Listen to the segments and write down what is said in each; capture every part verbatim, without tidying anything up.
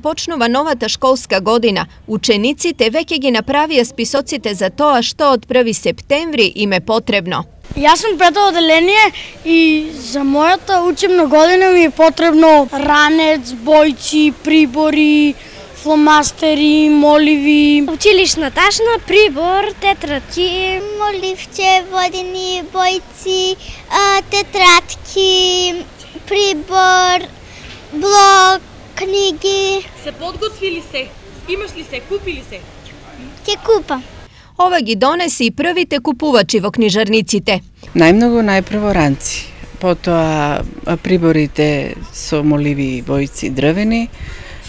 Почнува новата школска година. Учениците веќе ги направија списоците за тоа што од први септември им е потребно. Јас сум пето оделение и за мојата учебна година ми е потребно ранец, бојци, прибори, фломастери, моливи. Училишна ташна, прибор, тетрадки, моливче, водени бојци, тетрадки, прибор, блок, книги. Се подготвили се? Имаш ли се? Купи ли се? Ќе купам. Ова ги донеси и првите купувачи во книжарниците. Најмногу најпрво ранци, потоа приборите со моливи, бојци, дрвени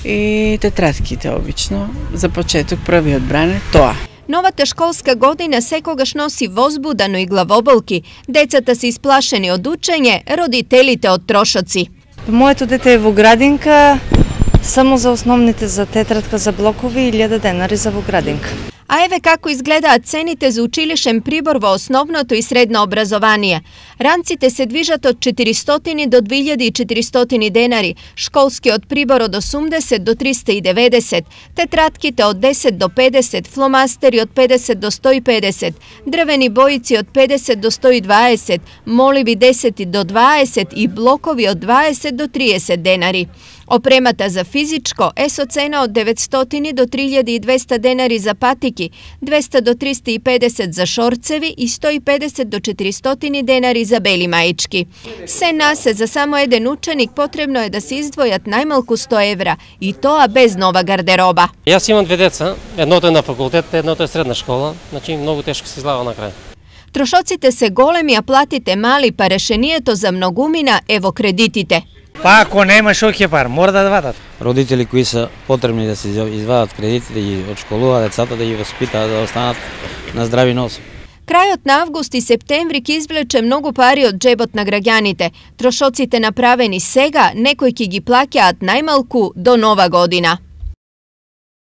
и тетрадките обично. За почеток првиот бране тоа. Новата школска година секогаш носи возбуда, но и главоболки. Децата се исплашени од учење, родителите од трошоци. Моето дете е во градинка, само за основните за тетрадка за блокови и илјада денари за во градинка. А еве како изгледаат цените за училишен прибор во основното и средно образование. Ранците се движат од четиристотини до две илјади и четиристотини денари, школскиот прибор од осумдесет до триста и деветдесет, тетратките од десет до педесет, фломастери од педесет до сто и педесет, дрвени бојци од педесет до сто и дваесет, моливи десет до дваесет и блокови од дваесет до триесет денари. Опремата за физичко е со цена од деветстотини до три илјади и двесте денари за патики, двесте до триста и педесет за шорцеви и сто и педесет до четиристотини денари за бели маички. Се насе за само еден ученик потребно е да се издвојат најмалку сто евра и тоа без нова гардероба. Јас имам две деца, едното е на факултет, едното е средна школа, значи многу тешко се излага на крај. Трошоците се големи, а платите мали, па решението за многумина е во кредитите. Па ако нема шо ќе пар, мора да вадат. Родители кои се потребни да се извадат кредити, да ги одшколуваат децата, да ги воспитаат, да останат на здрави носи. Крајот на август и септември ќе извлече многу пари од џебот на граѓаните. Трошоците направени сега, некои ќе ги плаќаат најмалку до нова година.